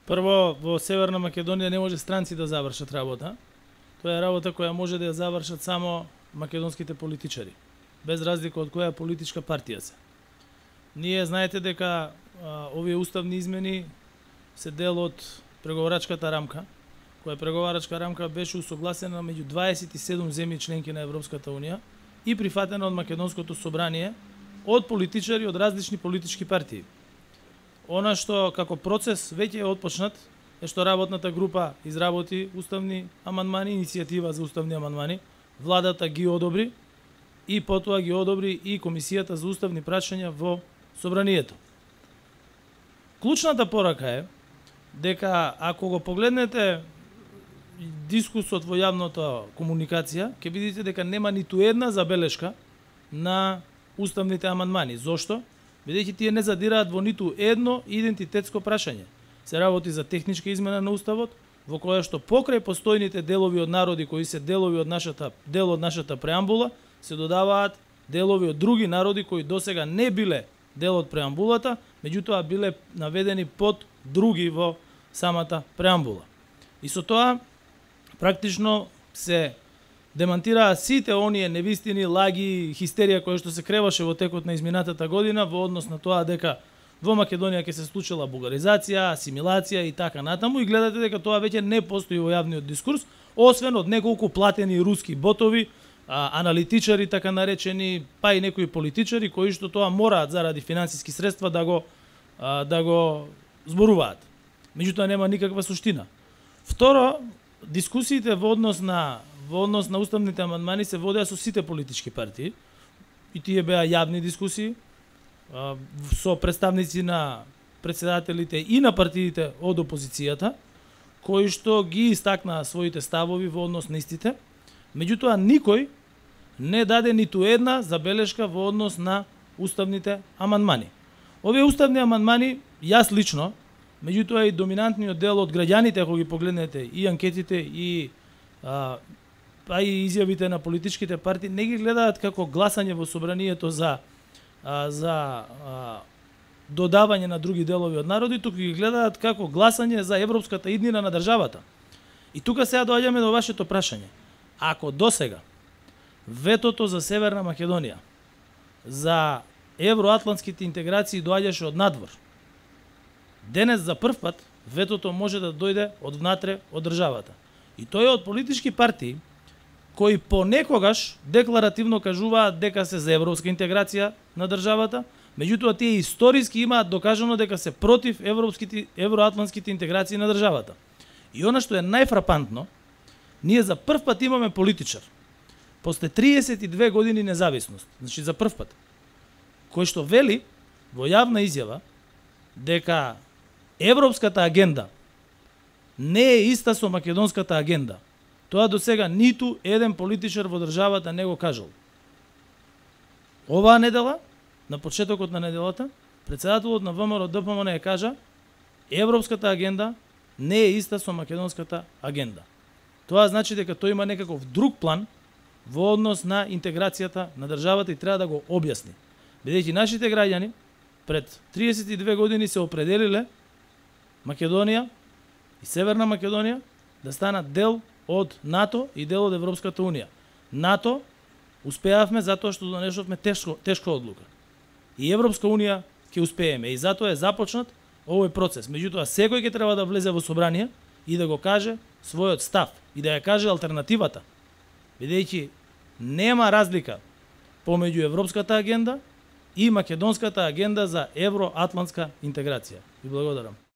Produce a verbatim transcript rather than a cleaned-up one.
Прво, во Северна Македонија не може странци да завршат работа. Тоа е работа која може да ја завршат само македонските политичари, без разлика од која политичка партија се. Ние знаете дека а, овие уставни измени се дел од преговарачката рамка, која преговарачка рамка беше усогласена меѓу дваесет и седум земји членки на Европската унија и прифатена од Македонското собрание од политичари од различни политички партии. Она што како процес веќе е отпочнат е што работната група изработи уставни амандмани, иницијатива за уставни амандмани, владата ги одобри и потоа ги одобри и Комисијата за уставни прашања во собранието. Клучната порака е дека ако го погледнете дискусот во јавната комуникација, ќе видите дека нема ниту една забелешка на уставните амандмани. Зошто? Бидејќи тие не задираат во ниту едно идентитетско прашање. Се работи за техничка измена на уставот, во која што покрај постојните делови од народи кои се делови од нашата дел од нашата преамбула, се додаваат делови од други народи кои досега не биле дел од преамбулата, меѓутоа биле наведени под други во самата преамбула. И со тоа практично се демантираа сите оние невистини, лаги, хистерија која што се креваше во текот на изминатата година во однос на тоа дека во Македонија ќе се случила бугаризација, асимилација и така натаму, и гледате дека тоа веќе не постои во јавниот дискурс, освен од неколку платени руски ботови, а, аналитичари така наречени, па и некои политичари кои што тоа мораат заради финансиски средства да го а, да го зборуваат. Меѓутоа нема никаква суштина. Второ, дискусиите во однос на во однос на уставните амандмани се водеа со сите политички партии и тие беа јавни дискусии а, со представници на претседателите и на партиите од опозицијата, кои што ги истакнаа своите ставови во однос на истите. Меѓутоа никој не даде ниту една забелешка во однос на уставните амандмани. Овие уставни амандмани, јас лично, меѓутоа и доминантниот дел од граѓаните, ако ги погледнете и анкетите и а, па и изјавите на политичките партии, не ги гледаат како гласање во собранието за а, за а, додавање на други делови од народи, туку ги гледаат како гласање за европската иднина на државата. И тука сега доаѓаме до вашето прашање. Ако досега ветото за Северна Македонија за евроатлантските интеграции доаѓаше од надвор, денес за прв пат ветото може да дојде од внатре од државата. И тоа е од политички партии кои понекогаш декларативно кажуваат дека се за европска интеграција на државата, меѓутоа тие историски имаат докажано дека се против европските евроатлантските интеграции на државата. И она што е најфрапантно, ние за прв пат имаме политичар после триесет и две години независност, значи за прв пат, кој што вели во јавна изјава дека европската агенда не е иста со македонската агенда. Тоа до сега ниту еден политичар во државата не го кажал. Оваа недела, на почетокот на неделата, претседателот на ВМРО Д П М Н ја кажа: европската агенда не е иста со македонската агенда. Тоа значи дека тој има некаков друг план во однос на интеграцијата на државата и треба да го објасни. Бидејќи нашите граѓани пред триесет и две години се определиле Македонија и Северна Македонија да станат дел од НАТО и дел од Европската унија. НАТО успеавме затоа што донесовме тешко, тешка одлука. И Европска унија ќе успееме и затоа е започнат овој процес. Меѓутоа секој ќе треба да влезе во собрание и да го каже својот став и да ја каже алтернативата. Бидејќи нема разлика помеѓу Европската агенда и македонската агенда за евроатлантска интеграција. Ви благодарам.